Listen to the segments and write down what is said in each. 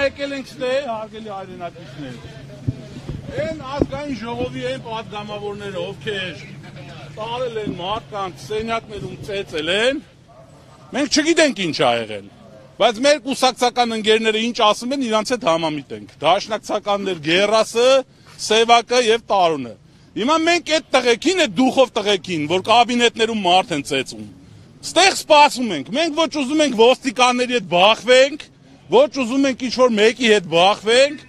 եկել ենք ստեղ, հարգելի հայրենակիցներ։ Այն ազգային ժողովի այն պատգամավորները, ովքեր տարել են մարդկանց սենյակներում ծեծել են, մենք չգիտենք ինչ ա եղել, բայց մեր կուսակցական ընկերները ինչ ասում են, իրանց հետ համամիտ ենք։ Դաշնակցականներ Գերասը, Սևակը եւ Տարոնը։ Հիմա մենք այդ տղեկին, այդ դուխով տղեկին, որ կաբինետներում մարդ են ծեծում, ստեղ սպասում ենք, մենք ոչ ուզում ենք ոստիկանների հետ բախվենք, ոչ ուզում ենք ինչ-որ մեկի հետ բախվենք,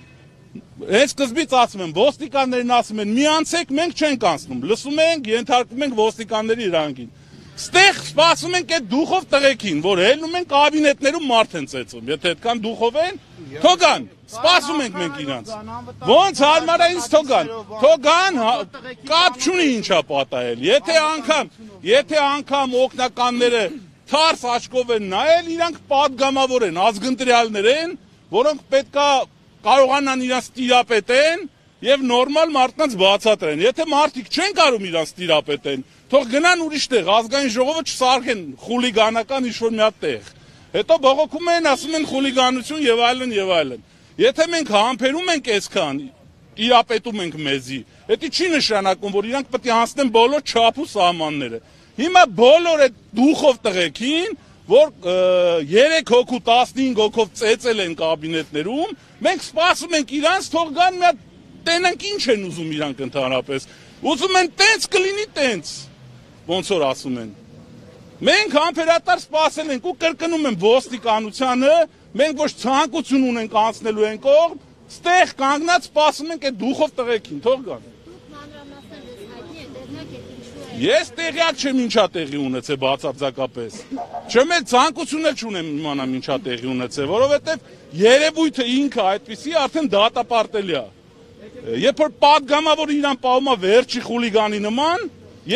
հենց սկզբից ասում եմ, ոստիկաններն ասում են, մի անցեք, մենք չենք անցնում, լսում ենք, ենթարկվում ենք ոստիկանների իրանքին։ Ստեղ սպասում ենք այդ դուխով տղեկին, որ ելնում են կաբինետներում մարդ են ծեծում, եթե այդքան դուխով են, թողան, սպասում ենք մենք իրանց։ Ոնց հարմար է ինձ թողան, կապ չունի ինչա պատահել, եթե անգամ օգնականները թարս աչքով են նայել, իրանք պատգամավոր են, ազգընտրյալներ են, որոնք պետքա կարողանան իրանց տիրապետեն եւ նորմալ մարդկանց բացատրեն։ Եթե մարդիկ չեն կարող իրանց տիրապետեն, թող գնան ուրիշ տեղ, ազգային ժողովը չսարքեն խուլիգանական ինչ-որ մի հատ տեղ։ Հետո բողոքում են, ասում են խուլիգանություն եւ այլն եւ այլն։ Եթե մենք համբերում ենք այսքան, տիրապետում ենք մեզի, դա չի նշանակում, որ իրանք պետք է անցնեն բոլոր չափ ու սահմանները։ Հիմա բոլոր այդ դուխով տղեկին, որ 3 հոգու 15 հոգով ծեծել են կաբինետներում, մենք սպասում ենք իրանց, թող գան մի հատ տենանք ինչ են ուզում իրանք ընդհանրապես։ Ուզում են տենց կլինի տենց, ոնց որ ասում են։ Մենք համբերատար սպասել ենք ու կրկնում եմ ոստիկանությանը, մենք ոչ ցանկություն ունենք անցնելու են կողմ, ստեղ կանգնած սպասում ենք այդ դուխով տղեկին, թող գան։ Ես տեղյակ չեմ ինչա տեղի ունեցել բացարձակապես։ Չեմ էլ ցանկություն էլ չունեմ իմանամ ինչա տեղի ունեցել, որովհետև երևույթը ինքը այդպիսի արդեն դատապարտելի է։ Երբ որ պատգամավորը իրան պահում է վերջի խուլիգանի նման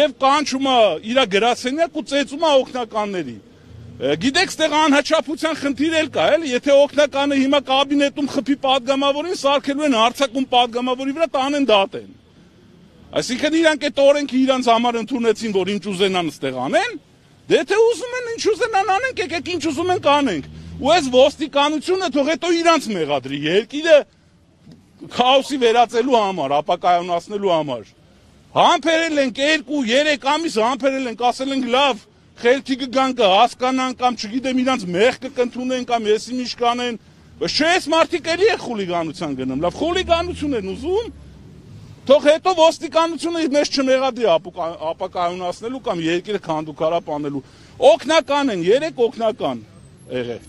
եւ կանչում է իր գրասենյակ ու ծեծում է օգնականների։ Գիտեք, ստեղ անհաճապության խնդիր էլ կա, էլի, եթե օգնականը հիմա կաբինետում խփի պատգամավորին, սարքելու են հարձակում պատգամավորի վրա, տանեն դատեն։ Այսինքն իրանք այդ օրենքը իրանց համար ընդունեցին, որ ինչ ուզենան ստեղ անեն, դե եթե ուզում են ինչ ուզենան անենք, եկեք ինչ ուզում են կանենք։ Ու այս ոստիկանությունը թող հետո իրանց մեղադրի, երկիրը քաոսի վերածելու համար, ապակայունացնելու համար։ Համբերել ենք 2-3 ամիս համբերել ենք, ասել ենք լավ, խելքի կգան կհասկանան կամ չգիտեմ իրանց մեղքը կընդունեն կամ եսի ինչ կանեն, բայց չէ, այս մարդիկ էլի է խուլիգանության գնում, լավ խուլիգանություն են ուզում, թող հետո ոստիկանությունը մեզ չմեղադրի ապակայունացնելու կամ երկիրը քանդուքարապ անելու։ Օգնական են, 3 օգնական եղել։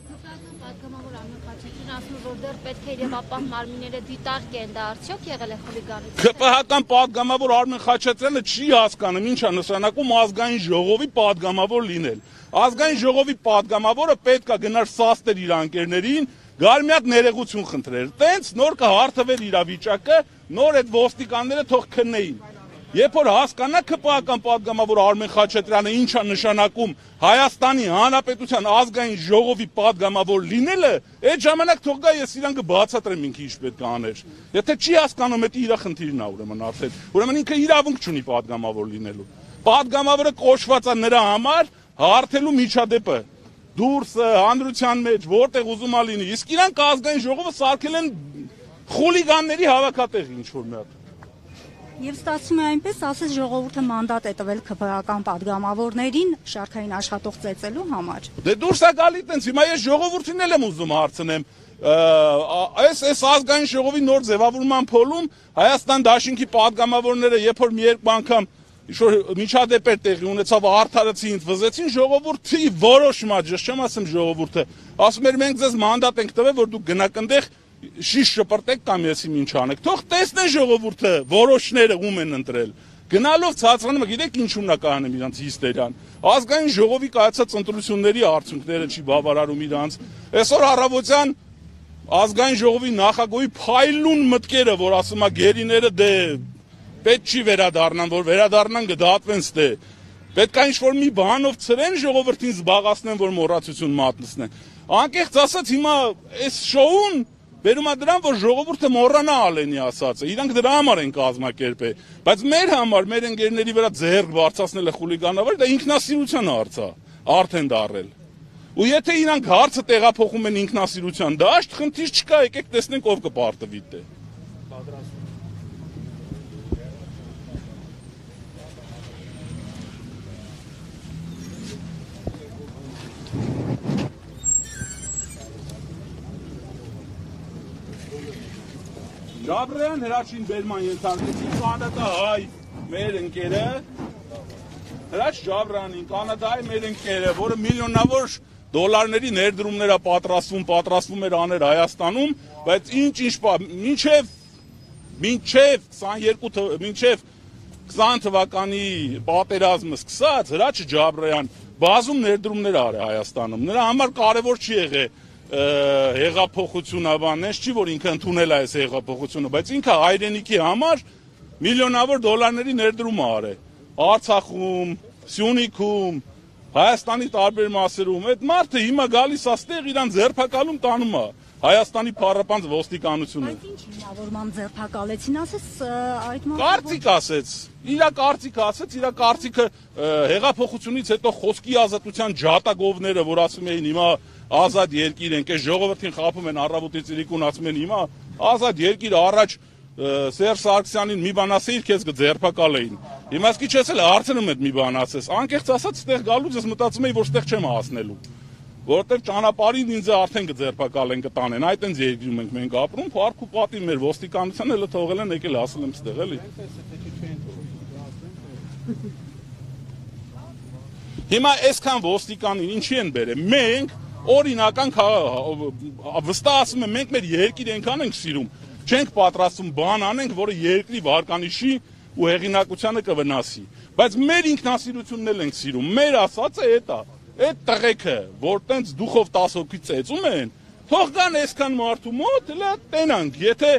Դեռ պետք է իրավապահ մարմինները դիտարկեն, դա արդյոք եղել է խուլիգանություն։ ԿՊՀ-ական պատգամավոր Արմեն Խաչատրյանը չի հասկանում ինչ է նշանակում ազգային ժողովի պատգամավոր լինել։ Ազգային ժողովի պատգամավորը պետք է գնար սաստեր իր անկերներին, գար մի հատ ներողություն խնդրեր։ Տենց նոր կհարթվեր իրավիճակը, նոր այդ ոստիկանները թող քննեին։ Երբ որ հասկանա ԿՊՀ-ական պատգամավոր Արմեն Խաչատրյանը ինչ է նշանակում Հայաստանի Հանրապետության ազգային ժողովի պատգամավոր լինելը, այդ ժամանակ թող գա ես իրան կբացատրեմ ինքը ինչ պետք է աներ։ Եթե չի հասկանում, դա իր խնդիրն է ուրեմն արդեն։ Ուրեմն ինքը իրավունք չունի պատգամավոր լինելու։ Պատգամավորը կոչված է նրա համար հարթելու միջադեպը դուրսը, հանրության մեջ, որտեղ ուզում է լինի։ Իսկ իրանք ազգային ժողովը սարքել են խուլիգանների հավաքատեղի ինչ-որ մի հատ։ Եվ ստացվում է այնպես, ասես ժողովուրդը մանդատ է տվել ԿՊՀ-ական պատգամավորներին շարքային աշխատող ծեծելու համար։ Դե դուրս է գալի տենց, հիմա ես ժողովրդին էլ եմ ուզում հարցնեմ, այս ազգային ժողովի նոր ձևավորման փոլում Հայաստան Դաշինքի պատգամավորները երբ որ մի երկու անգամ ինչ-որ միջադեպ տեղի ունեցավ, արդարացին, վզեցին, ժողովրդի որոշումը, չեմ ասում ժողովուրդը, ասում էր մենք ձեզ մանդատ ենք տվել, որ դուք գնաք այնտեղ շիշ շպրտեք կամ եսիմ ինչ անեք, թող տեսնեն ժողովուրդը որոշները ում են ընտրել, գնալով ցածրանում, գիտեք ինչու՞մն է կահանում իրանց հիստերիան, ազգային ժողովի կայացած ընտրությունների արդյունքները չի բավարարում իրանց, այսօր առավոտյան ազգային ժողովի նախագահի փայլուն մտքերը, որ ասում է գերիները դե պետք չի վերադառնան, որ վերադառնան կդատվեն ստե, պետք է ինչ-որ մի բանով ցրեն ժողովրդին զբաղացնեն, որ մոռացություն մատնեցնեն, անկեղծ ասած հիմա այս շոուն բերում է դրան, որ ժողովուրդը մոռանա Ալենի ասածը, իրանք դրա համար են կազմակերպել, բայց մեր համար, մեր ընկերների վրա ձեռք բարձրացնելը խուլիգանավոր, դա ինքնասիրության հարց է, արդեն դառել։ Ու եթե իրանք հարցը տեղափոխում են ինքնասիրության դաշտ, խնդիր չկա, եկեք տեսնենք ով կպարտվի դե։ Ջաբրյան Հրաչին բերման ենթարկեցին կանադահայ մեր ընկերը, Հրաչ Ջաբրանին կանադահայ մեր ընկերը, որը միլիոնավոր դոլարների ներդրումներ է պատրաստվում էր աներ Հայաստանում, բայց մինչև 20 թվականի պատերազմը սկսած Հրաչ Ջաբրյան բազում ներդրումներ արել Հայաստանում, նրա համար կարևոր չի եղել հեղափոխությունը, բանես չի, որ ինքը ընդունել է այս հեղափոխությունը, բայց ինքը հայրենիքի համար միլիոնավոր դոլարների ներդրում է արել Արցախում, Սյունիքում, Հայաստանի տարբեր մասերում, այդ մարդը հիմա գալիս է ստեղ իրան ձերբակալում տանում է Հայաստանի փառապանծ ոստիկանությունը։ Բայց ինչ հիմնավորմամբ ձերբակալեցին, ասես այդ Կարծիք ասեց, իր կարծիքը հեղափոխությունից հետո խոսքի ազատության ջատագովները, որ ասում էին հիմա ազատ երկիր ենք, այս ժողովրդին խաբում են առավոտից իրիկուն, ասում են հիմա ազատ երկիր, առաջ Սերժ Սարգսյանին մի բան ասեիր, քեզ կձերբակալեին։ Հիմա ասկի չես էլ հարցնում եմ մի բան ասես, անկեղծ ասած ստեղ գալուց ես մտածում եի, որ ստեղ չեմ հասնելու, որովհետև ճանապարհին ինձ արդեն կձերբակալեն, կտանեն, այդ այնց երկրում ենք մենք ապրում, փառք ու պատիվ մեր ոստիկանությանը էլ թողել են եկել ասել եմ ստեղ էլի։ Հիմա այսքան ոստիկանին ինչի են բերել, մենք օրինական վստահ ասում եմ, մենք մեր երկիր այնքան ենք սիրում, չենք պատրաստում բան անենք, որը երկրի վարկանիշի ու հեղինակությանը կվնասի, բայց մեր ինքնասիրությունն էլ ենք սիրում, մեր ասածը էդ է, այդ տղեկը, որ տենց դուխով 10 հոգի ծեծում են, թող գան այսքան մարդու մոտ, հլա տենանք, եթե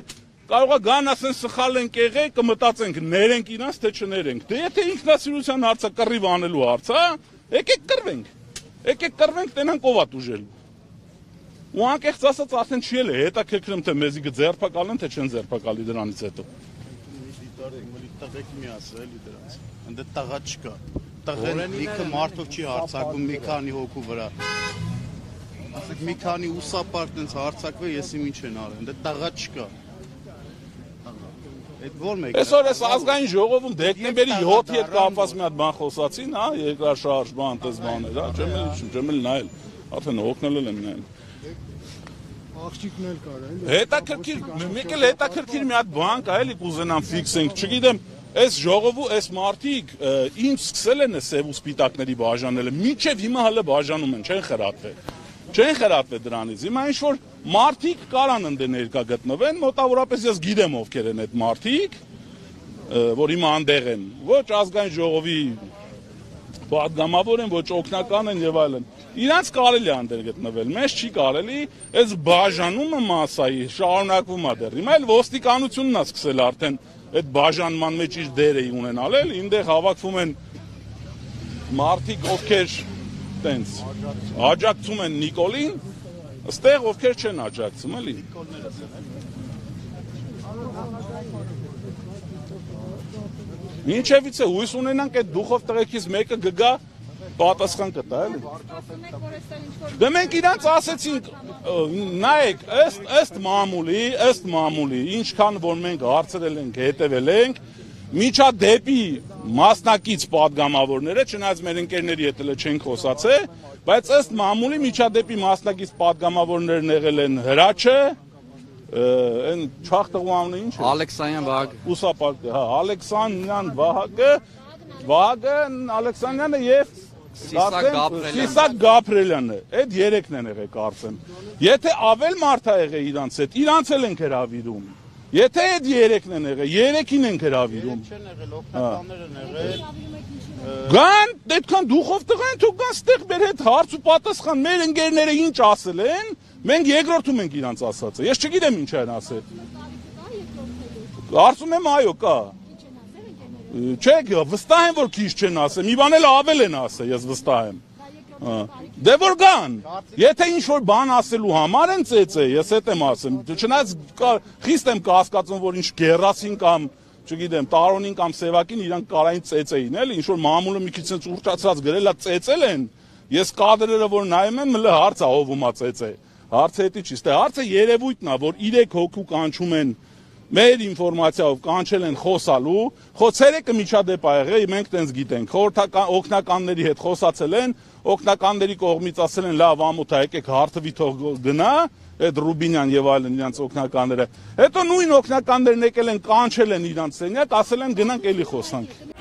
կարող է գան ասեն սխալ ենք եղել, կմտածենք, ներենք իրանց, թե չներենք, դե եթե ինքնասիրության հարցը կռիվ անելու հարց, եկեք կռվենք, տենանք ով է տուժելու։ Ու անկեղծ ասած արդեն չի էլ է, հետաքրքրում թե մեզի կձերբակալեն, թե չեն ձերբակալի դրանից հետո։ Տղեկ մի ասել էլի դրանց, ընդ տղա չկա, տղեն լիքը մարդով չի հարցակում մի քանի հոգու վրա, ասեք մի քանի ուսապարտ տենց հարցակվե ես իմ ինչ են արել, ընդ տղա չկա։ Այսօր այս ազգային ժողովում դեկտեմբերի 7-ի հետ կապված մի հատ բան խոսացին, հա, երկրաշարժ բան, տես բաներ, հա, չեմ էլ նայել, արդեն հոգնել եմ նայել։ Աղջիկն էլ կար, էլի։ Հետաքրքիր, մեկ էլ հետաքրքիր մի հատ բան կա, էլի կուզենամ ֆիքսենք, չգիտեմ, այս ժողովու այս մարդիկ ինչ սկսել են սև ու սպիտակների բաժանելը, մինչև հիմա հələ բաժանում են, չեն խրատվել դրանից։ Հիմա ինչ որ մարդիկ կարան ընդ ներկա գտնվեն, մոտավորապես ես գիտեմ ովքեր են այդ մարդիկ, որ հիմա անդեղ են, ոչ ազգային ժողովի պատգամավոր են, ոչ օգնական են եւ այլն։ Իրանց կարելի է անդեր գտնվել, մեզ չի կարելի, այս բաժանումը մասայի շարունակվում է դեռ։ Հիմա էլ ոստիկանությունն է սկսել արդեն այդ բաժանման մեջ իր դերը ունենալ, ինտեղ հավաքվում են մարդիկ, ովքեր տենց աջակցում են Նիկոլին, ստեղ ովքեր չեն աջակցում, էլի։ Մինչևից է հույս ունենանք այդ դուխով տղեկից մեկը գգա պատասխան կտա, էլի։ Դե մենք իրանց ասեցինք, նայեք, ըստ մամուլի, ինչքան որ մենք հարցրել ենք, հետևել ենք, միջադեպի մասնակից պատգամավորները, չնայած մեր ընկերների հետ էլ չենք խոսացել, բայց ըստ մամուլի միջադեպի մասնակից պատգամավորներն եղել են Հրաչը, այն չախտղու անունը ինչ է։ Ալեքսանյան Վահագը։ Ուսապարկը, հա, Ալեքսանյան Վահագը, Ալեքսանյանը եւ Սիսակ Գաբրելյանը, այդ երեքն են եղել կարծեմ։ Եթե ավել մարդ է եղել իրանց հետ, իրանց էլ ենք հրավիրում։ Եթե այդ երեքն են եղել, երեքին ենք հրավիրում։ Չեն եղել, օգնականներ են եղել։ Գան, այդքան դուխով տղան, թող գան ստեղ մեր հետ հարց ու պատասխան, մեր ընկերները ինչ ասել են, մենք երկրորդում ենք իրանց ասածը։ Ես չգիտեմ ինչ են ասել։ Կարծում եմ այո, կա։ Չէ, վստահ եմ, որ քիչ չեն ասել, մի բան էլ ավել են ասել, ես վստահ եմ։ Դե որ գան, եթե ինչ-որ բան ասելու համար են ծեծե, ես հետ եմ ասեմ, չնայած խիստ եմ կասկածում, որ ինչ գերասին կամ, չգիտեմ, տարոնին կամ սևակին իրանք կարային ծեծեին, էլի, ինչ-որ մամուլը մի քիչ ուռճացած գրել է ծեծել են, Ես կադրերը որ նայում եմ, մլը հարց է հովումա ծեծե։ Հարցը էդի չի, ստե հարցը երևույթն է, որ 3 հոգու կանչում են մեր ինֆորմացիայով կանչել են խոսալու, ցերեկը միջադեպ ա եղել, մենք տենց գիտենք, խորհրդական օգնականների հետ խոսացել են, օգնականների կողմից ասել են լավ ամոթ է, եկեք հարթվի թող գնա, այդ Ռուբինյան եւ այլն իրանց օգնականները։ Հետո նույն օգնականներն եկել են կանչել են իրանց սենյակ, ասել են գնանք էլի խոսանք։